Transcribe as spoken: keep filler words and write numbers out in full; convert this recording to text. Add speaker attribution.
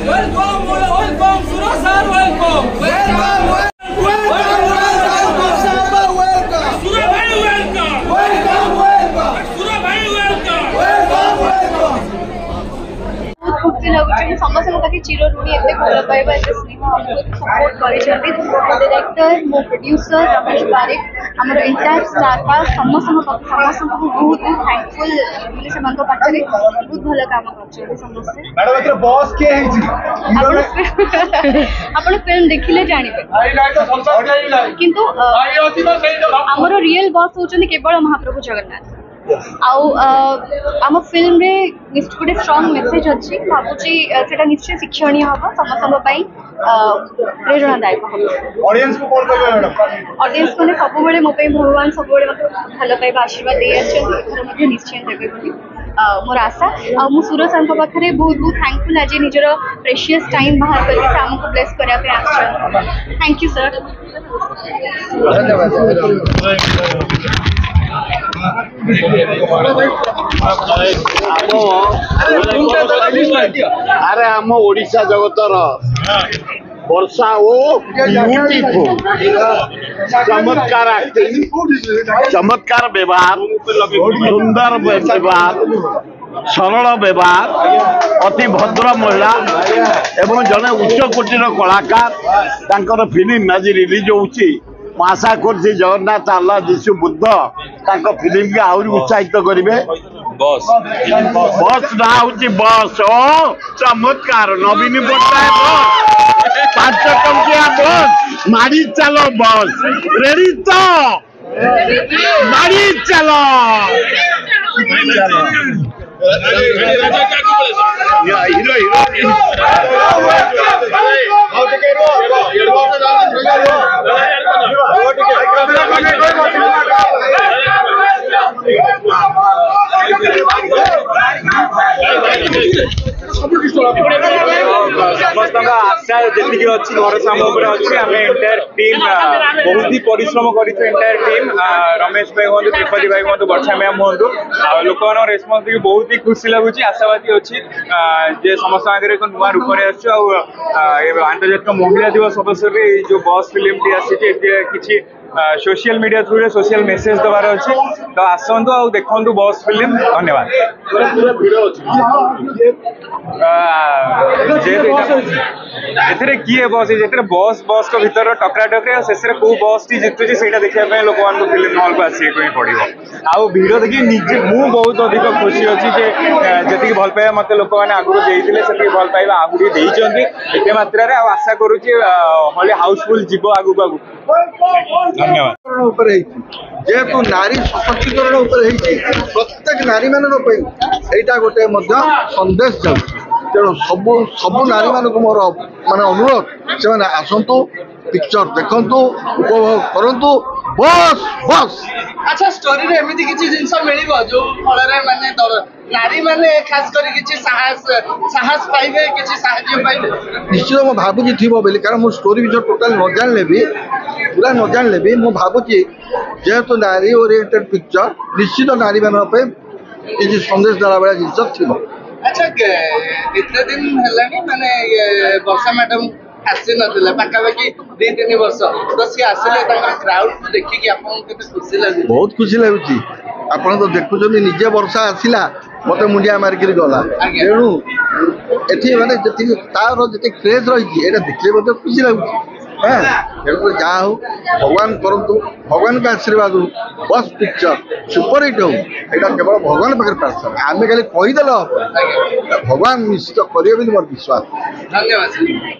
Speaker 1: Welcome, welcome, Sura sir, welcome. Welcome, welcome, welcome, welcome. Sura bhai, welcome. Welcome, welcome. Sura bhai, welcome. Welcome, welcome.
Speaker 2: ବହୁତ ଖୁସି ଲାଗୁଛି। ମୁଁ ସମସ୍ତଙ୍କ ପାଖେ ଚିରଋଣୀ। ଏତେ ଭଲ ପାଇବା, ଏତେ ସ୍ନେହ, ଆମକୁ ଏତେ ସପୋର୍ଟ କରିଛନ୍ତି। ମୋ ଡିରେକ୍ଟର, ମୋ ପ୍ରଡ୍ୟୁସର ରମେଶ ବାରିକ, ଆମର ଏଣ୍ଟାୟାର ଷ୍ଟାର କାଷ୍ଟ, ସମସ୍ତଙ୍କ ପାଖେ ସମସ୍ତଙ୍କୁ ମୁଁ ବହୁତ ବହୁତ ଥ୍ୟାଙ୍କଫୁଲ୍। ମାନେ ସେମାନଙ୍କ ପାଖରେ ବହୁତ ଭଲ କାମ କରିଛନ୍ତି ସମସ୍ତେ।
Speaker 3: ମ୍ୟାଡାମ, ଏଥିରେ ବସ୍ କିଏ ହେଇଛି?
Speaker 2: ଆପଣ ଆପଣ ଫିଲ୍ମ ଦେଖିଲେ ଜାଣିବେ, କିନ୍ତୁ ଅ, ଆମର ରିଏଲ ବସ୍ ହଉଛନ୍ତି କେବଳ ମହାପ୍ରଭୁ ଜଗନ୍ନାଥ। ଆଉ ଅ, ଆମ ଫିଲ୍ମରେ ଗୋଟେ ଷ୍ଟ୍ରଙ୍ଗ ମେସେଜ ଅଛି। ଭାବୁଛି ଅ, ସେଟା ନିଶ୍ଚୟ ଶିକ୍ଷଣୀୟ ହବ, ସମସ୍ତଙ୍କ ପାଇଁ ଅ, ପ୍ରେରଣାଦାୟକ ହବ।
Speaker 3: ଅଡିଏନ୍ସ କୁ କଣ କହିବେ ମ୍ୟାଡାମ?
Speaker 2: ଅଡିଏନ୍ସ ମାନେ ସବୁବେଳେ ମୋ ପାଇଁ ଭଗବାନ, ସବୁବେଳେ ମୋତେ ଭଲ ପାଇବା, ଆଶୀର୍ବାଦ ଦେଇ ଆସିଛନ୍ତି। ଏଥର ମଧ୍ୟ ନିଶ୍ଚୟ ଦେବେ ବୋଲି ଅ, ମୋର ଆଶା। ଆଉ ମୁଁ ସୁର ସାର୍ଙ୍କ ପାଖରେ ବହୁତ ବହୁତ ଥ୍ୟାଙ୍କଫୁଲ୍, ଆଜି ନିଜର ପ୍ରେସିୟସ୍ ଟାଇମ୍ ବାହାର କରିକି ସେ ଆମକୁ ବ୍ଲେସ୍ କରିବା ପାଇଁ ଆସିଛନ୍ତି। Thank you sir.
Speaker 3: ଧନ୍ୟବାଦ।
Speaker 4: ଆମ ଆରେ ଆମ ଓଡ଼ିଶା ଜଗତର ବର୍ଷା ଓ ବ୍ୟୁଟିଫୁଲ, ଚମତ୍କାର ଆକ୍ଟିଂ, ଚମତ୍କାର ବ୍ୟବହାର, ସୁନ୍ଦର ବ୍ୟବହାର, ସରଳ ବ୍ୟବହାର, ଅତି ଭଦ୍ର ମହିଳା ଏବଂ ଜଣେ ଉଚ୍ଚ କୋଟିର କଳାକାର। ତାଙ୍କର ଫିଲ୍ମ ଆଜି ରିଲିଜ ହେଉଛି। ମୁଁ ଆଶା କରୁଛି ଜଗନ୍ନାଥ, ଆଲ୍ଲାହ, ଯୀଶୁ, ବୁଦ୍ଧ ତାଙ୍କ ଫିଲ୍ମକି ଆହୁରି ଉତ୍ସାହିତ କରିବେ। ବସ୍ ନାଁ ହଉଛି ବସ୍ ଓ ଚମତ୍କାର। ନବୀନ ପଟ୍ଟନାୟକ ବସ୍, ପାଞ୍ଚ ଟଙ୍କିଆ ବସ୍, ମାଡ଼ି ଚାଲ ବସ୍, ରେଡି ତ? ମାଡ଼ି ଚାଲ। Hero hero.
Speaker 3: ଆଉ ଟିକେ ରୁହ, ରୁହ ଟିକେ।
Speaker 5: ସମସ୍ତଙ୍କ ଆଶା ଯେତିକି ଅଛି, ଭରସା ଆମ ଉପରେ ଅଛି। ଆମେ ଏଣ୍ଟାୟାର ଟିମ୍ ବହୁତ ହି ପରିଶ୍ରମ କରିଛୁ। ଏଣ୍ଟାୟାର ଟିମ୍, ରମେଶ ଭାଇ ହୁଅନ୍ତୁ, ତ୍ରିପାଠୀ ଭାଇ ହୁଅନ୍ତୁ, ବର୍ଷା ମ୍ୟାମ୍ ହୁଅନ୍ତୁ, ଆଉ ଲୋକମାନଙ୍କ ରେସ୍ପନ୍ସ ଦେଖି ବହୁତ ହି ଖୁସି ଲାଗୁଛି। ଆଶାବାଦୀ ଅଛି ଯେ ସମସ୍ତଙ୍କ ଆଗରେ ଏକ ନୂଆ ରୂପରେ ଆସୁଛୁ। ଆଉ ଆନ୍ତର୍ଜାତିକ ମହିଳା ଦିବସ ଅବସରରେ ଏଇ ଯୋଉ ବସ୍ ଫିଲ୍ମଟି ଆସିଛି, ଏଥିରେ କିଛି ସୋସିଆଲ ମିଡିଆ ଥ୍ରୁରେ ସୋସିଆଲ ମେସେଜ ଦେବାର ଅଛି। ତ ଆସନ୍ତୁ ଆଉ ଦେଖନ୍ତୁ ବସ୍ ଫିଲ୍ମ। ଧନ୍ୟବାଦ। ଯେହେତୁ ଏଥିରେ କିଏ ବସ୍, ଏଥିରେ ବସ୍ ବସ୍ଙ୍କ ଭିତର ଟକରା ଟକରି, ଆଉ ଶେଷରେ କୋଉ ବସ୍ଟି ଜିତୁଛି ସେଇଟା ଦେଖିବା ପାଇଁ ଲୋକମାନଙ୍କୁ ଫିଲ୍ମ ହଲ୍କୁ ଆସିବାକୁ ହିଁ ପଡ଼ିବ। ଆଉ ଭିଡ଼ ଦେଖି ନିଜେ ମୁଁ ବହୁତ ଅଧିକ ଖୁସି ଅଛି ଯେ ଯେତିକି ଭଲ ପାଇବା ମତେ ଲୋକମାନେ ଆଗରୁ ଦେଇଥିଲେ, ସେତିକି ଭଲ ପାଇବା ଆହୁରି ଦେଇଛନ୍ତି ଏତେ ମାତ୍ରାରେ। ଆଉ ଆଶା କରୁଛି ହଲି ହାଉସଫୁଲ୍ ଯିବ ଆଗକୁ ଆଗକୁ। ଧନ୍ୟବାଦ।
Speaker 3: ଉପରେ ହେଇଛି, ଯେହେତୁ ନାରୀ ସଶକ୍ତିକରଣ ଉପରେ ହେଇଛି, ପ୍ରତ୍ୟେକ ନାରୀମାନଙ୍କ ପାଇଁ ଏଇଟା ଗୋଟେ ମଧ୍ୟ ସନ୍ଦେଶ ଯାଉଛି। ତେଣୁ ସବୁ ସବୁ ନାରୀମାନଙ୍କୁ ମୋର ମାନେ ଅନୁରୋଧ, ସେମାନେ ଆସନ୍ତୁ, ପିକ୍ଚର ଦେଖନ୍ତୁ, ଉପଭୋଗ କରନ୍ତୁ। Bus bus.
Speaker 1: ଆଚ୍ଛା, ଷ୍ଟୋରିରେ ଏମିତି କିଛି ଜିନିଷ ମିଳିବ ଯୋଉ ଫଳରେ ମାନେ ନାରୀ ମାନେ ଖାସ କରି କିଛି ସାହସ ସାହସ ପାଇବେ, କିଛି ସାହାଯ୍ୟ ପାଇବେ?
Speaker 3: ନିଶ୍ଚିତ ମୁଁ ଭାବୁଛି ଥିବ ବୋଲି, କାରଣ ମୁଁ ଷ୍ଟୋରି ବିଷୟରେ ଟୋଟାଲ ନ ଜାଣିଲେ ବି, ପୁରା ନ ଜାଣିଲେ ବି ମୁଁ ଭାବୁଛି ଯେହେତୁ ନାରୀ ଓରିଏଣ୍ଟେଡ୍ ପିକ୍ଚର, ନିଶ୍ଚିତ ନାରୀମାନଙ୍କ ପାଇଁ କିଛି ସନ୍ଦେଶ ଦେଲା ଭଳିଆ ଜିନିଷ ଥିବ।
Speaker 1: ଆଚ୍ଛା, ଏତେ ଦିନ ହେଲାଣି ମାନେ ଇଏ ବର୍ଷା ମ୍ୟାଡାମ ଆସି ନଥିଲେ, ପାଖାପାଖି ଦି ତିନି ବର୍ଷ ତ ସିଏ ଆସିଲେ, ତାଙ୍କର କ୍ରାଉଡ ଦେଖିକି ଆପଣଙ୍କୁ କେତେ ଖୁସି ଲାଗୁଛି?
Speaker 3: ବହୁତ ଖୁସି ଲାଗୁଛି। ଆପଣ ତ ଦେଖୁଛନ୍ତି ନିଜେ, ବର୍ଷା ଆସିଲା, ମତେ ମୁଣ୍ଡିଆ ମାରିକିରି ଗଲା।
Speaker 1: ଆଜ୍ଞା।
Speaker 3: ତେଣୁ ଏଠି ମାନେ ଯେତିକି ତାର ଯେତିକି କ୍ରେଜ୍ ରହିଛି, ଏଇଟା ଦେଖିଲେ ମଧ୍ୟ ଖୁସି ଲାଗୁଛି। ହଁ, ତେଣୁକରି ଯାହା ହଉ ଭଗବାନ କରନ୍ତୁ, ଭଗବାନଙ୍କ ଆଶୀର୍ବାଦରୁ ବସ୍ ପିକ୍ଚର ସୁପରହିଟ୍ ହଉ, ଏଇଟା କେବଳ ଭଗବାନ ପାଖରେ ପ୍ରାର୍ଥନା। ଆମେ ଖାଲି କହିଦେଲେ ହବ, ଭଗବାନ ନିଶ୍ଚିତ କରିବେ ବୋଲି ମୋର ବିଶ୍ୱାସ।
Speaker 1: ଧନ୍ୟବାଦ ସାର୍।